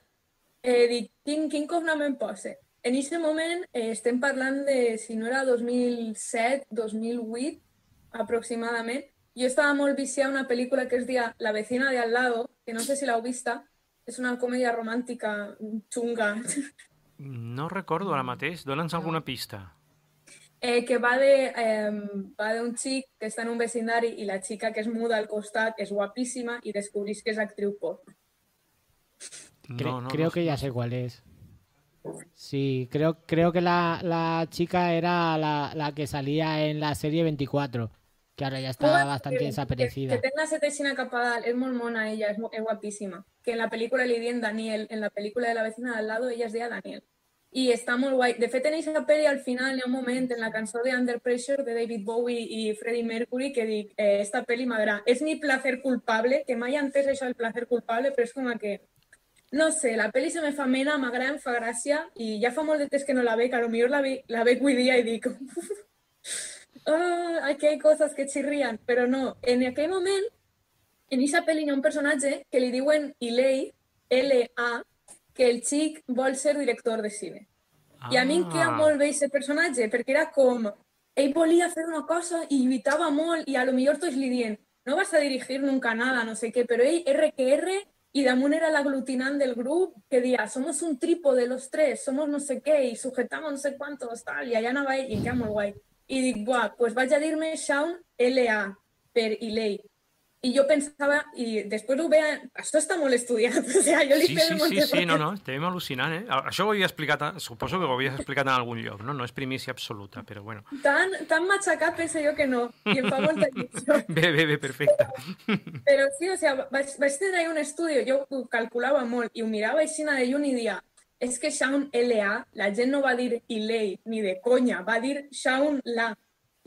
eh, dic, quin, quin cognom em pose? En aquest moment eh, estem parlant de, si no era dos mil set, dos mil vuit, aproximadament. Jo estava molt viciada a una pel·lícula que es deia La vecina de al lado, que no sé si l'heu vista, és una comèdia romàntica xunga. No recordo ara mateix, dona'ns alguna pista. Eh, que va de eh, va d'un xic que està en un vecindari i la xica que es muda al costat és guapíssima i descobrís que és actriu pop. Cre No, no, creo no, que ya sé cuál es. Sí, creo, creo que la, la chica era la, la que salía en la serie veinticuatro, que ahora ya está Bueno, bastante que, desaparecida. Que, que tenga seteixina cap a dalt, és molt mona ella, és, és guapíssima. Que en la pel·lícula li diuen Daniel, en la pel·lícula de La vecina de al lado ella es deia Daniel. I està molt guai. De fet, en aquesta pel·li al final hi ha un moment en la cançó de Under Pressure de David Bowie i Freddie Mercury que dic, eh, esta pel·li m'agrada. És mi placer culpable, que mai he entès això del placer culpable, però és com que, no sé, la pel·li se me fa mena, m'agrada, em fa gràcia, i ja fa molt de temps que no la veig, a lo millor la, ve, la veig avui dia i dic, oh, aquí hay cosas que chirrían, però no. En aquell moment, en aquesta pel·li hi ha un personatge que li diuen Eli, L A, que el xic vol ser director de cine. Ah. I a mi em queda molt bé aquest personatge, perquè era com... Ell volia fer una cosa i lluitava molt, i a lo millor tots li diuen no vas a dirigir nunca nada, no sé què, però ell, R que R, i damunt era l'aglutinant del grup, que dia, somos un trípode los tres, somos no sé què, i sujetamos no sé cuántos, tal, i allà anava ell, i em queda molt guai. I dic, buah, pues vaig a dir-me Shaun L A per Eli. I jo pensava, i després ho veia, això està molt estudiat, o sigui, jo li sí, feia sí, molt sí, de sí, no, no, estem al·lucinant, eh? Això ho havia explicat, suposo que ho havies explicat en algun lloc, no? No és primícia absoluta, però bueno. Tan, tan matxacat penso jo que no, i em fa molta il·lusió. Bé, bé, bé, perfecte. Però sí, o sigui, vaig, vaig tenir un estudi, jo ho calculava molt, i ho mirava així de lluny i dia, és que Shaun L A, la gent no va dir Eli ni de conya, va dir Shaun La.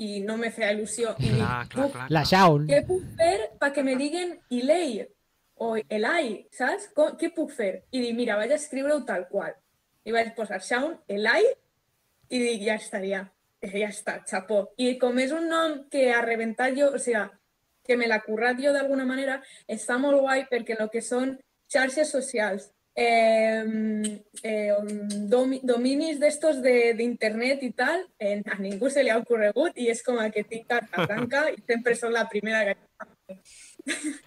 I no me feia il·lusió. I clar, dic, clar, clar, la Shaun. Què puc fer perquè me diguen Eli o Eli, saps? Com, què puc fer? I dic, mira, vaig a escriure-ho tal qual. I vaig posar Shaun, Eli, i dic, ja estaria. ja està, xapó. I com és un nom que ha reventat jo, o sigui, que me l'ha currat jo d'alguna manera, està molt guai perquè el que són xarxes socials, eh, eh, domi, dominis d'estos d'internet i tal, eh, a ningú se li ha ocorregut i és com que tinc carta blanca i sempre soc la primera que...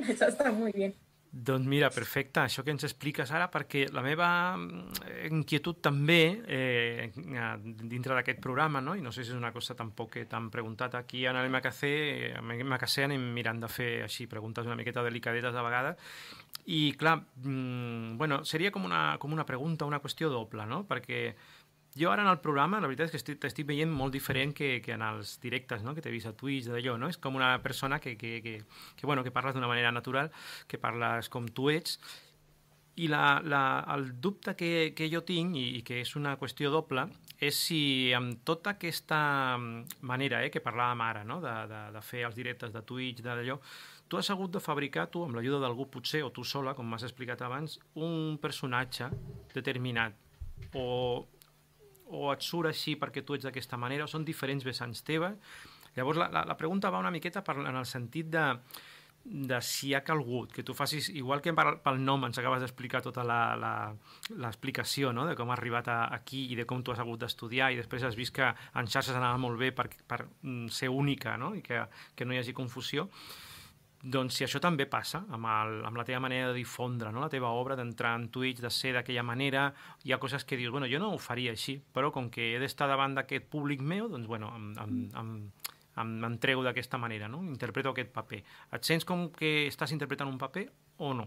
Això està molt bé. Doncs mira, perfecte, això que ens expliques ara, perquè la meva inquietud també, eh, dintre d'aquest programa, no? I no sé si és una cosa tampoc que t'han preguntat aquí en el M H C, M H C anem mirant de fer així preguntes una miqueta delicadetes de vegades, i clar, bueno, seria com una, com una pregunta, una qüestió doble, no? Perquè jo ara en el programa, la veritat és que t'estic veient molt diferent que, que en els directes, no? Que t'he vist a Twitch, d'allò, no? És com una persona que, que, que, que, bueno, que parles d'una manera natural, que parles com tu ets, i la, la, el dubte que, que jo tinc, i, i que és una qüestió doble, és si amb tota aquesta manera eh, que parlàvem ara, no? de, de, de fer els directes de Twitch, d'allò, tu has hagut de fabricar, tu, amb l'ajuda d'algú potser, o tu sola, com m'has explicat abans, un personatge determinat, o... o et surt així perquè tu ets d'aquesta manera, o són diferents vessants teves. Llavors, la, la, la pregunta va una miqueta per, en el sentit de, de si ha calgut, que tu facis, igual que per, pel nom ens acabes d'explicar tota l'explicació, no? De com has arribat a, aquí i de com tu has hagut d'estudiar, i després has vist que en xarxes anava molt bé per, per ser única, no? I que, que no hi hagi confusió. Doncs si això també passa amb, el, amb la teva manera de difondre, no? La teva obra, d'entrar en Twitch, de ser d'aquella manera, hi ha coses que dius, bueno, jo no ho faria així, però com que he d'estar davant d'aquest públic meu, doncs bueno, em, em, em, em, em treu d'aquesta manera, no? Interpreto aquest paper. Et sents com que estàs interpretant un paper o no?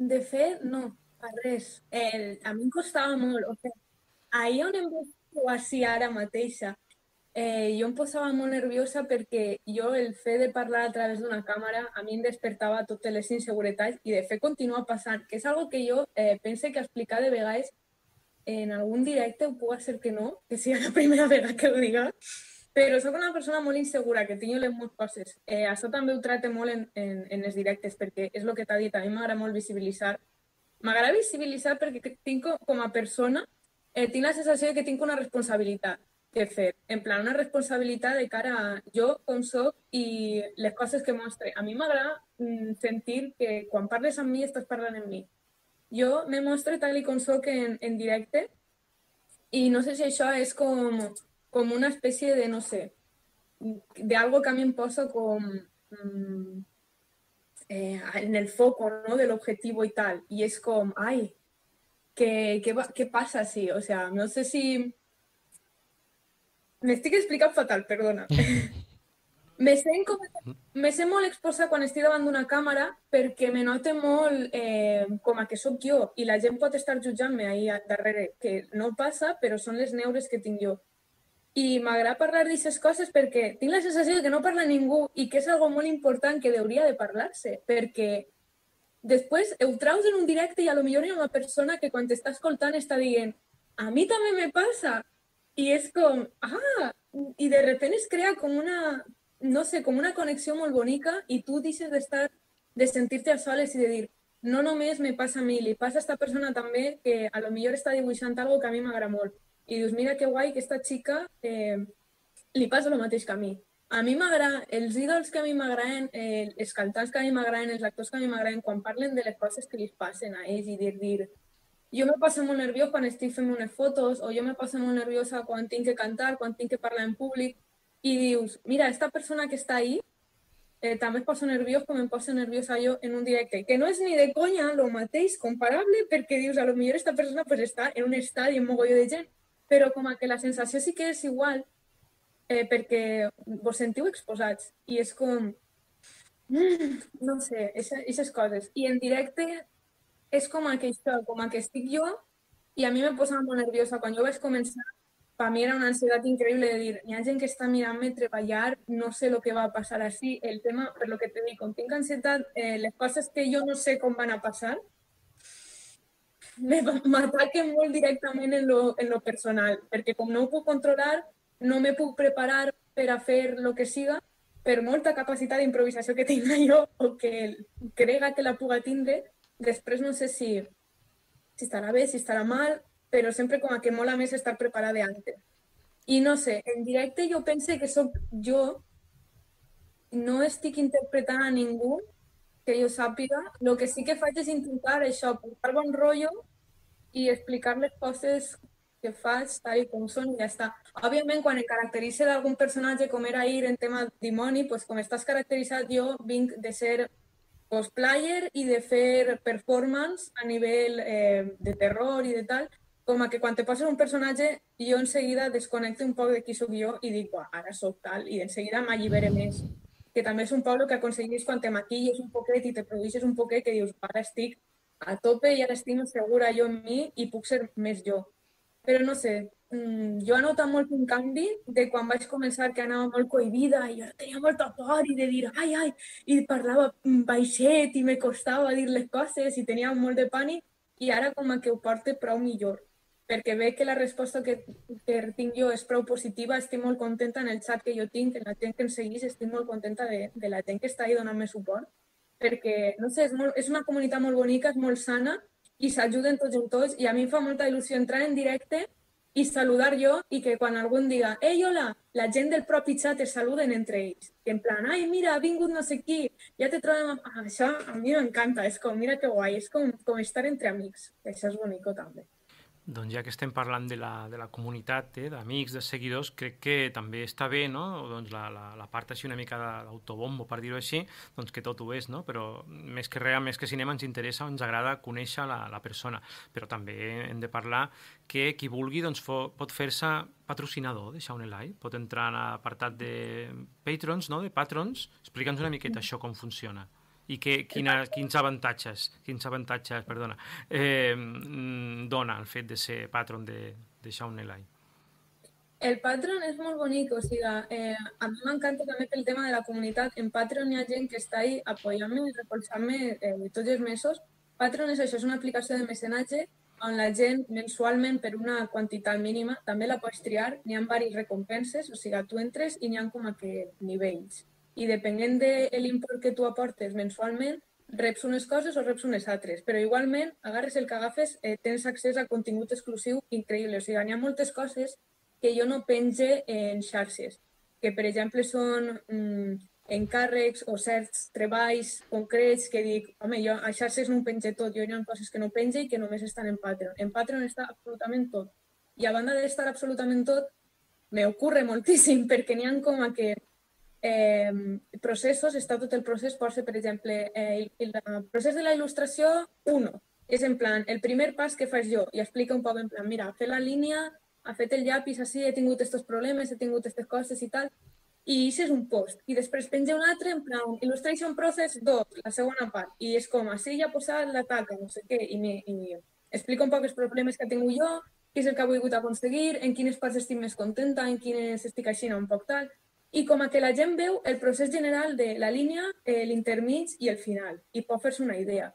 De fet, no, per res. El, a mi em costava molt. O sigui, ahir on em veig així ara mateixa, Eh, jo em posava molt nerviosa perquè jo el fet de parlar a través d'una càmera a mi em despertava totes les inseguretats i de fet continua passant, que és algo que jo eh, pense que explicar de vegades en algun directe ho puc ser que no, que sigui la primera vegada que ho diga, però soc una persona molt insegura, que tinc les moltes coses. Eh, això també ho tracte molt en, en, en els directes perquè és el que t'ha dit, a mi m'agrada molt visibilitzar. M'agrada visibilitzar perquè tinc com a persona, eh, tinc la sensació de que tinc una responsabilitat que fer, en plan una responsabilitat de cara a jo com soc i les coses que mostre. A mi m'agrada mm, sentir que quan parles amb mi estàs parlant amb mi. Jo me mostre tal i com soc en, en directe i no sé si això és com, com una espècie de, no sé, de algo que a mi em posa com mm, eh, en el foco, ¿no? Del objetivo y tal. Y es como, ay, ¿qué, qué, qué pasa así? O sea, no sé si... M'estic explicant fatal, perdona. me, sent com... me sent molt exposa quan estic davant d'una càmera perquè me note molt eh, com a que sóc jo i la gent pot estar jutjant-me ahí darrere, que no passa, però són les neures que tinc jo. I m'agrada parlar d'aquestes coses perquè tinc la sensació que no parla ningú i que és algo molt important que hauria de parlar-se, perquè després ho traus en un directe i a lo millor hi ha una persona que quan t'està escoltant està dient a mi també me passa. I és com, ah, i de repente es crea com una, no sé, com una connexió molt bonica i tu deixes d'estar, de sentir-te a soles i de dir, no només me passa a mi, li passa a esta persona també que a lo millor està dibuixant algo que a mi m'agrada molt. I dius, mira que guai que esta xica eh, li passa el mateix que a mi. A mi m'agrada, els ídols que a mi m'agraden, eh, els cantants que a mi m'agraden, els actors que a mi m'agraden, quan parlen de les coses que li passen a ells i dir, dir jo me passo molt nerviós quan estic fent unes fotos o jo me passo molt nerviosa quan tinc que cantar, quan tinc que parlar en públic i dius, mira, esta persona que està ahí eh, també es posa nerviós com em poso nerviosa jo en un directe, que no és ni de conya lo mateix, comparable, perquè dius, a lo millor esta persona pues, està en un estadi amb mogolló de gent, però com a que la sensació sí que és igual eh, perquè vos sentiu exposats i és com, mm, no sé, aquestes coses. I en directe és com que això, com que estic jo i a mi me posa molt nerviosa. Quan jo vaig començar, per mi era una ansietat increïble de dir, hi ha gent que està mirant-me treballar, no sé el que va a passar així. El tema, per lo que te dic, com tinc ansietat, eh, les coses que jo no sé com van a passar, m'ataquen molt directament en lo, en lo personal, perquè com no ho puc controlar, no me puc preparar per a fer el que siga, per molta capacitat d'improvisació que tinga jo o que crega que la puga tindre. Després no sé si, si estarà bé, si estarà mal, però sempre com que mola més estar preparada antes. I no sé, en directe jo pense que sóc jo, no estic interpretant a ningú que jo sàpiga. El que sí que faig és intentar això, portar bon rotllo i explicar les coses que faig tal com són i ja està. Òbviament, quan em caracteritza d'algun personatge com era ahir en tema dimoni, pues, com estàs caracteritzat, jo vinc de ser cosplayer i de fer performance a nivell eh, de terror i de tal, com a que quan te poses un personatge jo en seguida desconnecto un poc de qui sóc jo i dic, ara sóc tal, i en seguida m'allibere més. Que també és un poc el que aconseguís quan te maquilles un poquet i te produeixes un poquet que dius, ara estic a tope i ara estic segura jo en mi i puc ser més jo. Però no sé, jo he notat molt un canvi de quan vaig començar que anava molt cohibida i jo tenia molta por i de dir ai, ai, i parlava baixet i me costava dir les coses i tenia molt de pànic i ara com que ho porto prou millor. Perquè veig que la resposta que, que tinc jo és prou positiva, estic molt contenta en el xat que jo tinc, en la gent que em segueix, estic molt contenta de, de la gent que està ahí donant-me suport, perquè, no sé, és, molt, és una comunitat molt bonica, és molt sana i s'ajuden tots en tots i a mi em fa molta il·lusió entrar en directe i saludar jo i que quan algú em diga «Ei, hola!», la gent del propi xat es saluden entre ells. Que en plan «Ai, mira, ha vingut no sé qui, ja te trobem...». Ah, això a mi m'encanta, és com, mira que guai, és com, com estar entre amics. Això és bonico també. Doncs ja que estem parlant de la, de la comunitat, eh, d'amics, de seguidors, crec que també està bé, no? Doncs la, la, la part així una mica d'autobombo, per dir-ho així, doncs que tot ho és, no? Però més que res, més que cinema, ens interessa o ens agrada conèixer la, la persona. Però també hem de parlar que qui vulgui doncs, fo, pot fer-se patrocinador de Shaun Eli, pot entrar en l'apartat de patrons, no? De patrons. Explica'ns una miqueta això com funciona. I que, quina, quins avantatges, quins avantatges perdona, eh, dona el fet de ser patron de, de Shaun Eli? El Patreon és molt bonic, o sigui, eh, a mi m'encanta també pel tema de la comunitat. En Patreon hi ha gent que està ahí apoyant-me i recolzant-me eh, tots els mesos. Patreon és això, és una aplicació de mecenatge on la gent mensualment per una quantitat mínima també la pots triar. N'hi ha diverses recompenses, o sigui, tu entres i n'hi ha com a que nivells. I depenent de l'import que tu aportes mensualment, reps unes coses o reps unes altres. Però igualment, agarres el que agafes, eh, tens accés a contingut exclusiu increïble. O sigui, hi ha moltes coses que jo no penge en xarxes, que per exemple són mm, encàrrecs o certs treballs concrets que dic, home, jo a xarxes no ho penge tot, jo hi ha coses que no penge i que només estan en Patreon. En Patreon està absolutament tot. I a banda d'estar absolutament tot, me ocurre moltíssim, perquè n'hi ha com a que Eh, processos, està tot el procés, pot ser, per exemple, eh, el, el procés de la il·lustració uno. És en plan, el primer pas que faig jo i explica un poc en plan, mira, he fet la línia, he fet el llapis així, he tingut aquests problemes, he tingut aquestes coses i tal, i això és un post. I després penja un altre en plan, Illustration Process dos, la segona part, i és com, així ja he posat la taca, no sé què, i, me, i explica un poc els problemes que he tingut jo, què és el que he volgut aconseguir, en quines parts estic més contenta, en quines estic així un poc tal. I com a que la gent veu el procés general de la línia, eh, l'intermig i el final, i pot fer-se una idea.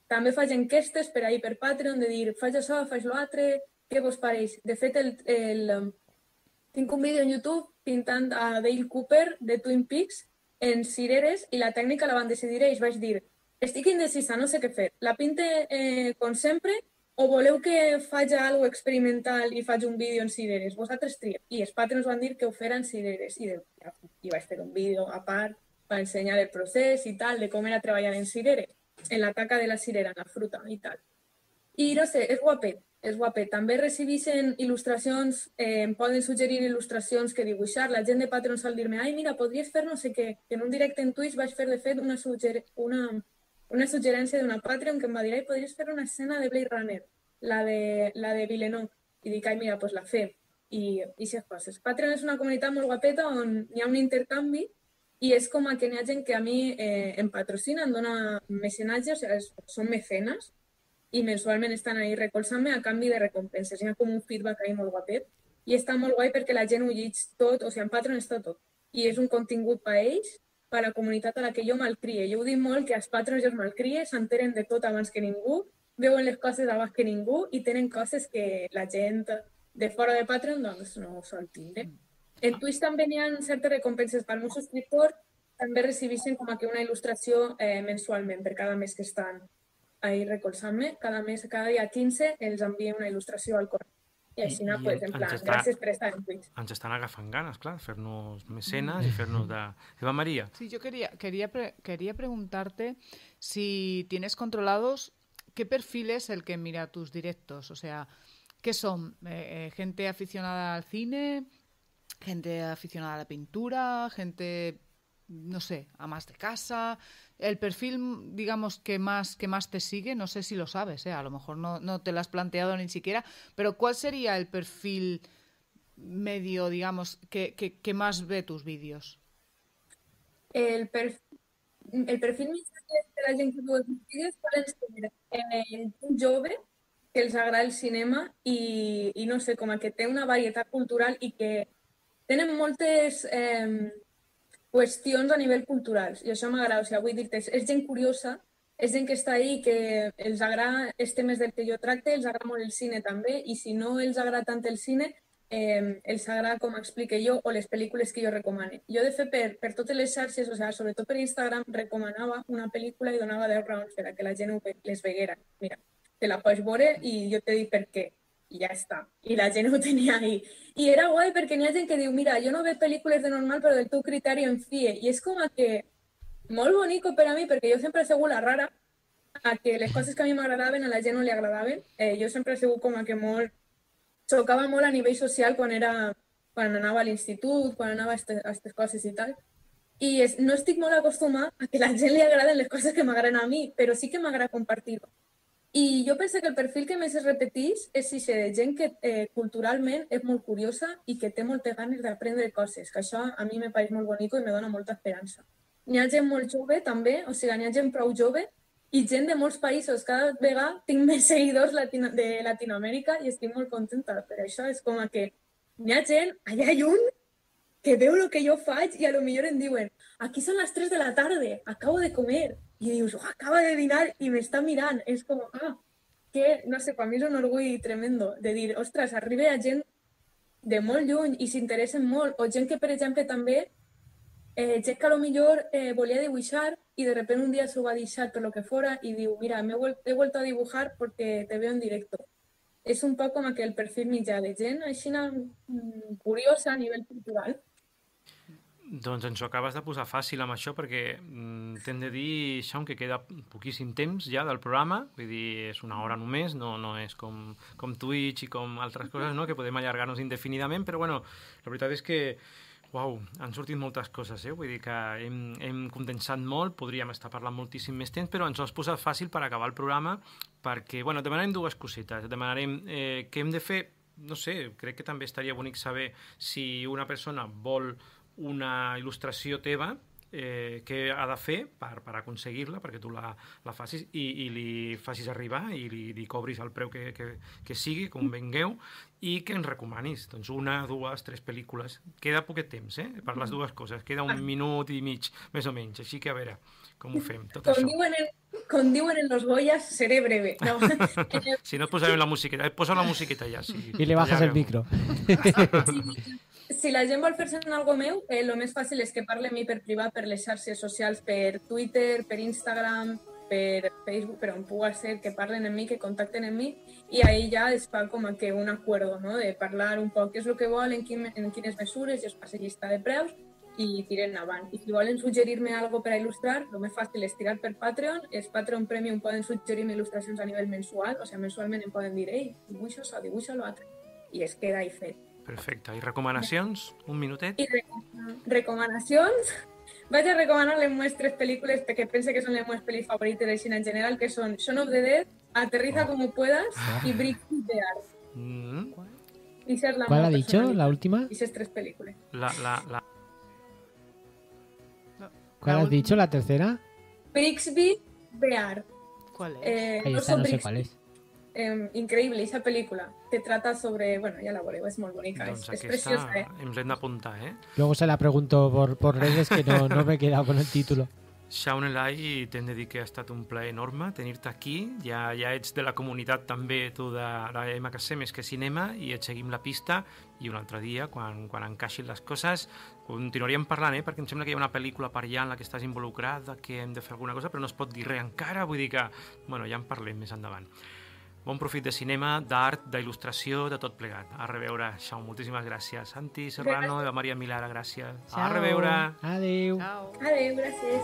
També faig enquestes per ahir per Patreon de dir, faig això, faig l'altre, què vos pareix? De fet, el, el, tinc un vídeo en YouTube pintant a Dale Cooper de Twin Peaks en cireres i la tècnica la van decidir ells. Vaig dir, estic indecisa, no sé què fer. La pinte eh, com sempre o voleu que faig alguna experimental i faig un vídeo en cireres? Vosaltres trieu. I els patrons van dir que ho feren cireres. I, de, i vaig fer un vídeo a part per ensenyar el procés i tal, de com era treballar en cireres, en la taca de la cirera, en la fruta i tal. I no sé, és guapet, és guapet. També recibeixen il·lustracions, eh, em poden suggerir il·lustracions que dibuixar. La gent de Patreon sol dir-me, ai, mira, podries fer no sé què. En un directe en Twitch vaig fer, de fet, una sugger una una suggerència d'una Patreon que em va dir «Ai, podries fer una escena de Blade Runner, la de, la de Villeneuve». I dic «Ai, mira, doncs la fem». I aquestes coses. Patreon és una comunitat molt guapeta on hi ha un intercanvi i és com que n'hi ha gent que a mi eh, em patrocina, em dona mecenatge, o sigui, són mecenes i mensualment estan ahí recolzant-me a canvi de recompenses. Hi ha com un feedback ahí molt guapet i està molt guai perquè la gent ho llig tot, o sigui, en Patreon està tot. I és un contingut per a ells, per a la comunitat a la que jo malcrie. Jo ho dic molt que els patrons jo els malcrie, s'enteren de tot abans que ningú, veuen les coses abans que ningú i tenen coses que la gent de fora de Patreon doncs, no sol tindre. En Twitch també hi ha certes recompenses per al meu subscriptor, també recibeixen com que una il·lustració eh, mensualment per cada mes que estan ahí recolzant-me. Cada mes, cada dia quinze, els envia una il·lustració al correu. I així, I pues, en ens plan, està- gràcies per estar en Twitch. Ens estan agafant ganes, clar, fer-nos mecenes i fer-nos de... Eva Maria. Sí, yo quería, quería, pre- quería preguntarte si tienes controlados qué perfil es el que mira tus directos. O sea, ¿qué son? Eh, eh, ¿gente aficionada al cine? ¿Gente aficionada a la pintura? ¿Gente, no sé, amas de casa? El perfil, digamos, que más, que más te sigue, no sé si lo sabes, ¿eh? A lo mejor no, no te lo has planteado ni siquiera, pero ¿cuál sería el perfil medio, digamos, que, que, que más ve tus vídeos? El, perf el perfil més de la gent que veu els meus vídeos poden ser eh, gent jove que els agrada el cinema i, i no sé, com a que té una varietat cultural i que tenen moltes eh, qüestions a nivell culturals, i això m'agrada, o sigui, vull dir-te, és, és gent curiosa, és gent que està ahí, que els agrada els temes del que jo tracte, els agrada molt el cine també, i si no els agrada tant el cine, eh, els agrada com explique jo o les pel·lícules que jo recomane. Jo, de fet, per, per totes les xarxes, o sigui, sobretot per Instagram, recomanava una pel·lícula i donava deu raons per a que la gent les veguera. Mira, te la pots veure i jo te dic per què. I ja està. I la gent ho tenia ahí. I era guai perquè n'hi ha gent que diu, mira, jo no veig pel·lícules de normal, però del teu criteri em fie. I és com a que molt bonico per a mi, perquè jo sempre he sigut la rara, a que les coses que a mi m'agradaven a la gent no li agradaven. Eh, jo sempre he sigut com a que molt... Xocava molt a nivell social quan era... quan anava a l'institut, quan anava a aquestes coses i tal. I és, no estic molt acostumada a que la gent li agraden les coses que m'agraden a mi, però sí que m'agrada compartir-ho. I jo penso que el perfil que més es repeteix és si de gent que eh, culturalment és molt curiosa i que té moltes ganes d'aprendre coses, que això a mi me pareix molt bonic i me dona molta esperança. N'hi ha gent molt jove també, o sigui, n'hi ha gent prou jove i gent de molts països. Cada vegada tinc més seguidors latino de Latinoamèrica i estic molt contenta per això. És com que n'hi ha gent allà lluny que veu el que jo faig i a lo millor em diuen aquí són les tres de la tarda, acabo de comer. I dius, oh, acaba de dinar i m'està mirant. És com, ah, que, no sé, per mi és un orgull tremendo de dir, ostres, arriba a gent de molt lluny i s'interessen molt. O gent que, per exemple, també, eh, gent que a lo millor eh, volia dibuixar i de repente un dia s'ho va deixar per lo que fora i diu, mira, me he vuelto a dibujar porque te veo en directo. És un poc com aquell perfil mitjà de gent així curiosa a nivell cultural. Doncs ens ho acabes de posar fàcil amb això perquè mm, t'hem de dir, Shaun, que queda poquíssim temps ja del programa, vull dir, és una hora només, no, no és com, com Twitch i com altres coses, no?, que podem allargar-nos indefinidament, però bueno, la veritat és que uau, han sortit moltes coses, eh? Vull dir que hem, hem condensat molt, podríem estar parlant moltíssim més temps, però ens ho has posat fàcil per acabar el programa perquè, bueno, demanarem dues cosetes, demanarem eh, què hem de fer, no sé, crec que també estaria bonic saber si una persona vol una il·lustració teva, eh, què ha de fer per, per aconseguir-la, perquè tu la, la facis i, i li facis arribar i li, li cobris el preu que, que, que sigui, com vengueu, i que ens recomanis. Doncs una, dues, tres pel·lícules. Queda poquet temps, eh?, per les dues coses. Queda un minut i mig, més o menys. Així que, a veure, com ho fem, tot com això. Diuen en, com diuen en los Goyas, seré breve. No. Si no et posarem la musiqueta, posa la musiqueta ja. Si, I li bajas el micro. Sí. Si la gent vol fer-se en algo meu, el eh, més fàcil és que parli a mi per privat, per les xarxes socials, per Twitter, per Instagram, per Facebook, per on pugui ser, que parlen amb mi, que contacten amb mi, i ahí ja es fa com que un acuerdo, no?, de parlar un poc què és el que volen, en, quin, en quines mesures, i es passa llista de preus, i tiren avant. I si volen suggerir-me algo per a il·lustrar, el més fàcil és tirar per Patreon. Els Patreon Premium poden suggerir-me il·lustracions a nivell mensual, o sigui, mensualment em poden dir, ei, dibuixa això, dibuixa l'altre, i es queda ahí fet. Perfecte. I recomanacions? Un minutet? I recomanacions? Vaig a recomanar les meves tres pel·lícules perquè pense que són les meves pel·lis favorites de cine en general, que són Shaun of the Dead, Aterriza como puedas y Bricks de Art. Mm. ¿Cuál ha dicho? ¿La última? Esas tres películas. La, la, la... ¿Cuál has dicho? ¿La tercera? Brixby Bear. ¿Cuál es? Eh, Ahí está, no sé cuál es. Eh, increïble, aquesta pel·lícula. Te trata sobre... Bueno, ja la veureu, és molt bonica, doncs és, és preciosa, eh? Ens l'hem d'apuntar, eh? Luego se la pregunto por, por redes que no, no me he quedado con el título. Shaun Elai, t'hem de dir que ha estat un plaer enorme tenir-te aquí. Ja, ja ets de la comunitat també, tu de la M K C més que cinema, i et seguim la pista, i un altre dia, quan, quan encaixin les coses, continuaríem parlant, eh? Perquè em sembla que hi ha una pel·lícula per allà en la que estàs involucrat, que hem de fer alguna cosa, però no es pot dir res encara, vull dir que, bueno, ja en parlem més endavant. bon profit de cinema, d'art, d'il·lustració, de tot plegat. A reveure, Shaun, moltíssimes gràcies. Santi Serrano, Eva Maria Milara, gràcies. A Ciao. reveure. Adéu. Ciao. Adéu, gràcies.